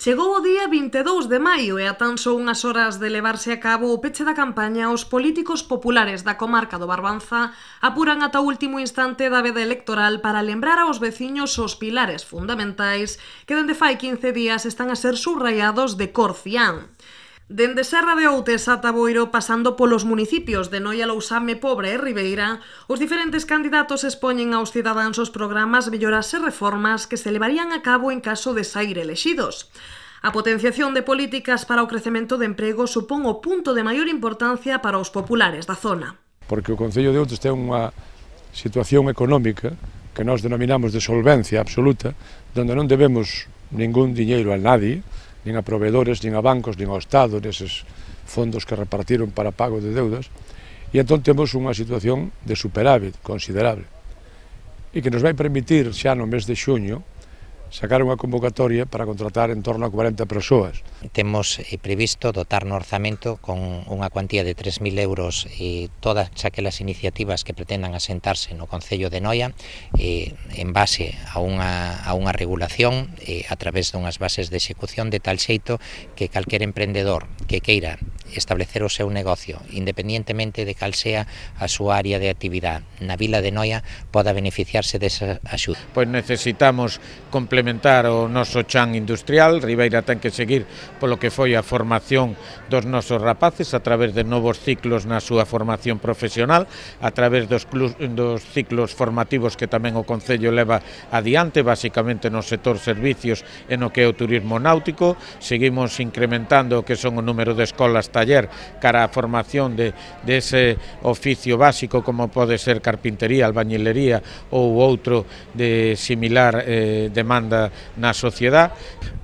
Chegou o día 22 de maio e a tan só unhas horas de levarse a cabo o peche da campaña, os políticos populares da comarca do Barbanza apuran ata o último instante da veda electoral para lembrar aos veciños os pilares fundamentais que dende fai 15 días están a ser subrayados de cor cián. Dende Serra de Outes ata Boiro, pasando polos municipios de Noia, Lousame, Pobre e Ribeira, os diferentes candidatos expoñen aos cidadáns os programas, melloras e reformas que se levarían a cabo en caso de sair elexidos. A potenciación de políticas para o crecemento de emprego supón o punto de maior importancia para os populares da zona. Porque o Concello de Outes ten unha situación económica que nós denominamos de solvencia absoluta, donde non debemos ningún diñeiro a nadie, nin a proveedores, nin a bancos, nin ao Estado, neses fondos que repartiron para pago de deudas, e entón temos unha situación de superávit considerable, e que nos vai permitir xa no mes de xuño sacar unha convocatoria para contratar en torno a 40 persoas. Temos previsto dotar no orzamento con unha cuantía de 3.000 euros todas aquelas iniciativas que pretendan asentarse no Concello de Noia en base a unha regulación a través dunhas bases de execución de tal xeito que calquer emprendedor que queira establecer o seu negocio, independientemente de cal sea a súa área de actividade na vila de Noia, poda beneficiarse desa axuda. Pois necesitamos complementar o noso chan industrial. Ribeira ten que seguir polo que foi a formación dos nosos rapaces a través de novos ciclos na súa formación profesional, a través dos ciclos formativos que tamén o Concello leva adiante, basicamente no sector servicios e no que é o turismo náutico. Seguimos incrementando o que son o número de escolas taller cara a formación de ese oficio básico como pode ser carpintería, albañilería ou outro de similar demanda na sociedade.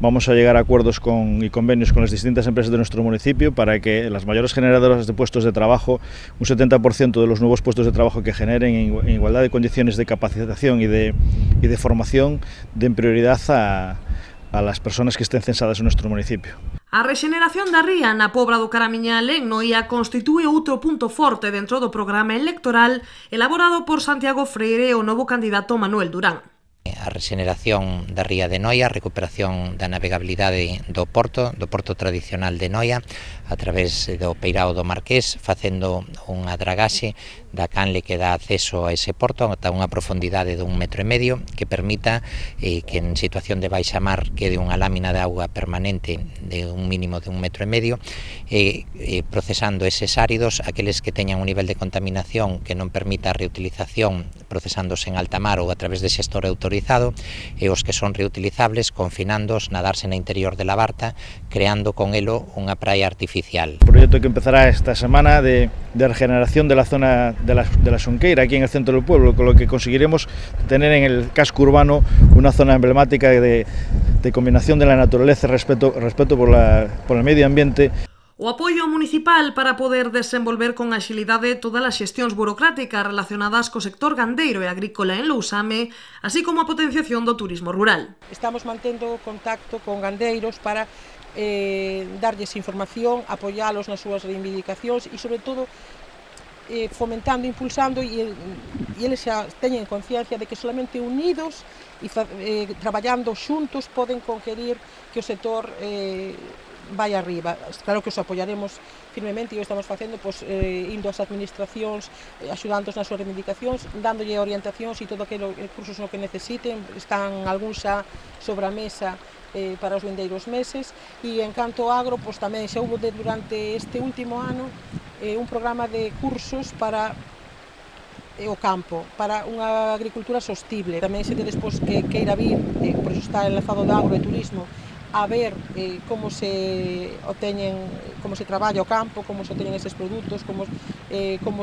Vamos a llegar a acuerdos y convenios con las distintas empresas de nuestro municipio para que las mayores generadoras de puestos de trabajo, un 70% de los nuevos puestos de trabajo que generen en igualdad de condiciones de capacitación y de formación, den prioridad a las personas que estén censadas en nuestro municipio. A rexeneración da ría na Pobra do Caramiñal en Noia constitúe outro punto forte dentro do programa electoral elaborado por Santiago Freire e o novo candidato Manuel Durán. A rexeneración da ría de Noia, a recuperación da navegabilidade do porto tradicional de Noia, a través do Peirao do Marqués, facendo unha dragaxe da canle que dá acceso a ese porto ata unha profundidade de 1,5 metros que permita que en situación de baixa mar quede unha lámina de auga permanente de un mínimo de 1,5 metros procesando eses áridos, aqueles que teñan un nivel de contaminación que non permita a reutilización procesándose en alta mar ou a través de xestor autorizado, e os que son reutilizables confinándos, nadarse na interior de la barta, creando con elo unha praia artificial. Un proyecto que empezará esta semana de regeneración de la zona de la Xunqueira, aquí en el centro del pueblo, con lo que conseguiremos tener en el casco urbano una zona emblemática de combinación de la naturaleza y respeto por el medio ambiente. O apoio municipal para poder desenvolver con axilidade todas as xestións burocráticas relacionadas co sector gandeiro e agrícola en Lousame, así como a potenciación do turismo rural. Estamos mantendo contacto con gandeiros para darlles información, apoialos nas súas reivindicacións e, sobre todo, fomentando, impulsando e eles xa teñen conciencia de que solamente unidos e traballando xuntos poden conquerir que o sector vai arriba. Claro que os apoiaremos firmemente e o estamos facendo indo ás administracións, axudándoos nas súas reivindicacións, dándolle orientacións e todo aqueles recursos no que necesiten. Están algúns xa sobre a mesa para os vindeiros meses, e en canto agro tamén xa houve durante este último ano un programa de cursos para o campo, para unha agricultura sostible. Tamén se despois que queira vir, por iso está enlazado de agro e turismo, a ver como se traballa o campo, como se obteñen eses produtos, como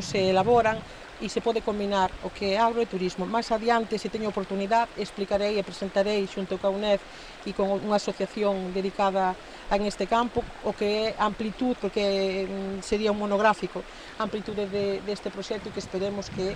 se elaboran, e se pode combinar o que é agro e turismo. Máis adiante, se teño oportunidade, explicarei e presentarei xunto ca UNED e con unha asociación dedicada en este campo o que é amplitud, porque sería un monográfico, amplitude deste proxecto que esperemos que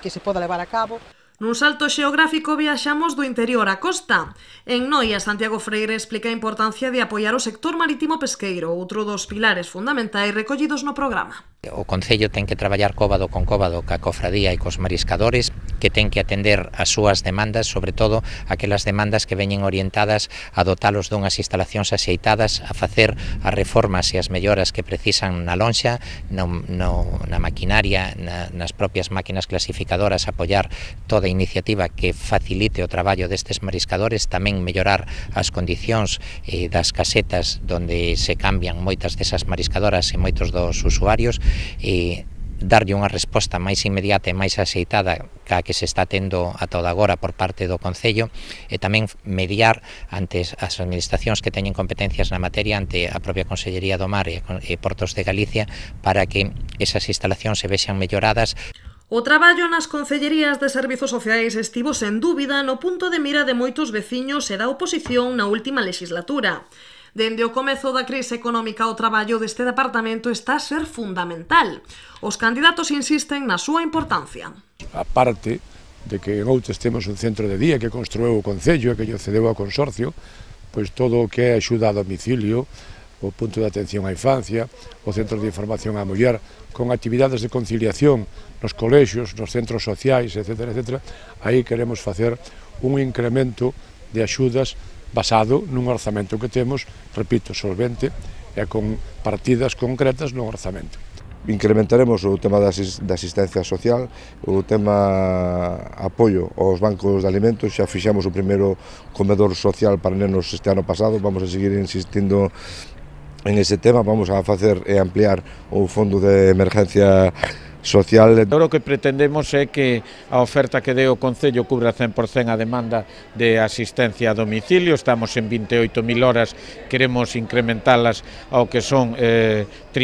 se poda levar a cabo. Nun salto xeográfico viaxamos do interior á costa. En Noia, Santiago Freire explica a importancia de apoiar o sector marítimo pesqueiro, outro dos pilares fundamentais recollidos no programa. O Concello ten que traballar cóbado con cóbado ca cofradía e cos mariscadores, que ten que atender as súas demandas, sobre todo aquelas demandas que veñen orientadas a dotalos dunhas instalacións axeitadas, a facer as reformas e as melloras que precisan na lonxa, na maquinaria, nas propias máquinas clasificadoras, apoiar toda iniciativa que facilite o traballo destes mariscadores, tamén mellorar as condicións das casetas onde se cambian moitas desas mariscadoras e moitos dos usuarios, e darlle unha resposta máis inmediata e máis axeitada ca que se está tendo a toda agora por parte do Concello, e tamén mediar ante as administracións que teñen competencias na materia, ante a propia Consellería do Mar e Portos de Galicia, para que esas instalacións se vexan melloradas. O traballo nas Concellerías de Servizos Sociais estivo sen dúbida no punto de mira de moitos veciños e da oposición na última legislatura. Dende o comezo da crise económica, o traballo deste departamento está a ser fundamental. Os candidatos insisten na súa importancia. A parte de que en Outes temos un centro de día que construiu o Concello e que lle cedeu ao consorcio, pois todo o que é axuda a domicilio, o punto de atención á infancia, o centro de información á muller, con actividades de conciliación nos colexios, nos centros sociais, etc., aí queremos facer un incremento de axudas basado nun orzamento que temos, repito, solvente e con partidas concretas no orzamento. Incrementaremos o tema da asistencia social, o tema apoio aos bancos de alimentos. Xa fixamos o primeiro comedor social para nenos este ano pasado, vamos a seguir insistindo en ese tema, vamos a facer e ampliar o fondo de emergencia social. O que pretendemos é que a oferta que dé o Concello cubra 100% a demanda de asistencia a domicilio. Estamos en 28.000 horas, queremos incrementalas ao que son 30.000,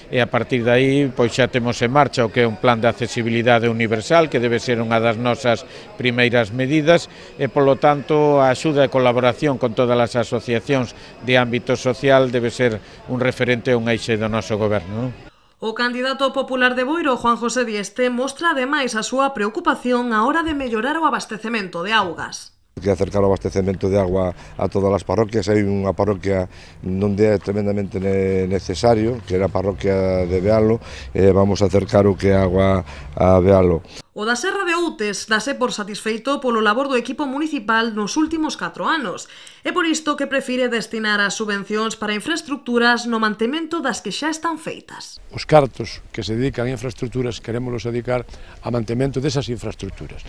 e a partir de aí pois xa temos en marcha o que é un plan de accesibilidade universal, que debe ser unha das nosas primeiras medidas, e polo tanto a axuda e colaboración con todas as asociacións de ámbito social debe ser un referente e un eixe do noso goberno. O candidato popular de Boiro, Juan José Dieste, mostra ademais a súa preocupación á hora de mellorar o abastecemento de augas. Que acercar o abastecemento de agua a todas as parroquias. Hai unha parroquia onde é tremendamente necesario, que é a parroquia de Bealo, e vamos a acercar o que é agua a Bealo. O da Serra de Outes dase por satisfeito polo labor do equipo municipal nos últimos 4 anos, e por isto que prefire destinar as subvencións para infraestructuras no mantemento das que xa están feitas. Os cartos que se dedican a infraestructuras queremos dedicar a mantemento desas infraestructuras,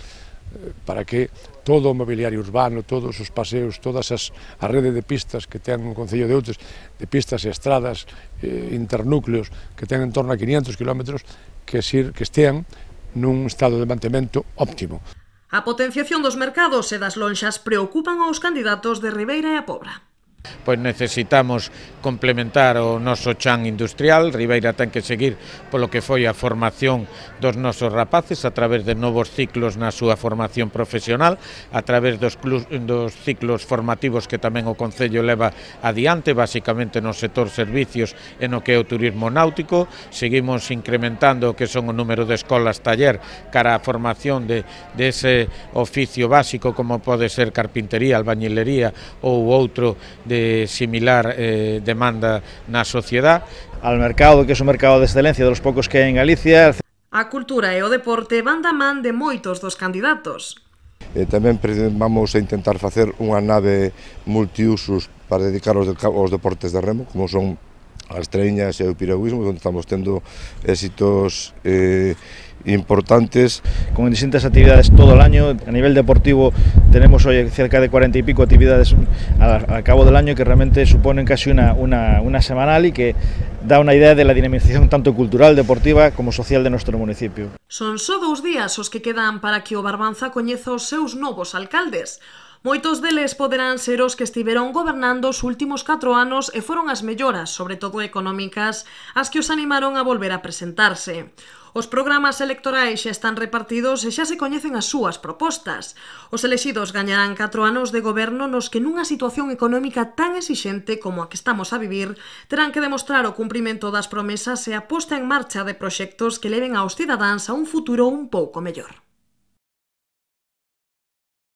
para que todo o mobiliario urbano, todos os paseos, todas a rede de pistas que ten o Concello de Outes, de pistas e estradas, internúcleos que ten en torno a 500 km, que estean nun estado de mantemento óptimo. A potenciación dos mercados e das lonxas preocupan aos candidatos de Ribeira e a Pobra. Pois necesitamos complementar o noso chan industrial. Ribeira ten que seguir polo que foi a formación dos nosos rapaces a través de novos ciclos na súa formación profesional, a través dos ciclos formativos que tamén o Concello leva adiante, basicamente no sector servicios e no que é o turismo náutico. Seguimos incrementando o que son o número de escolas taller cara a formación de ese oficio básico como pode ser carpintería, albañilería ou outro de similar demanda na sociedade. Al mercado, que é un mercado de excelencia dos poucos que hai en Galicia. A cultura e o deporte van da man de moitos dos candidatos. Tamén vamos a intentar facer unha nave multiusos para dedicar aos deportes de remo, como son as treiñas e o piragüismo, onde estamos tendo éxitos importantes. Con distintas actividades todo el año. A nivel deportivo tenemos hoy cerca de 40 y pico actividades al cabo del año, que realmente suponen casi una semanal, y que da una idea de la dinamización tanto cultural, deportiva como social de nuestro municipio. Son só 2 días os que quedan para que o Barbanza coñeza os seus novos alcaldes. Moitos deles poderán ser os que estiveron gobernando os últimos 4 anos e foron as melloras, sobre todo económicas, as que os animaron a volver a presentarse. Os programas electorais xa están repartidos e xa se coñecen as súas propostas. Os elexidos gañarán 4 anos de goberno nos que nunha situación económica tan exixente como a que estamos a vivir terán que demostrar o cumprimento das promesas e a posta en marcha de proxectos que leven aos cidadáns a un futuro un pouco mellor.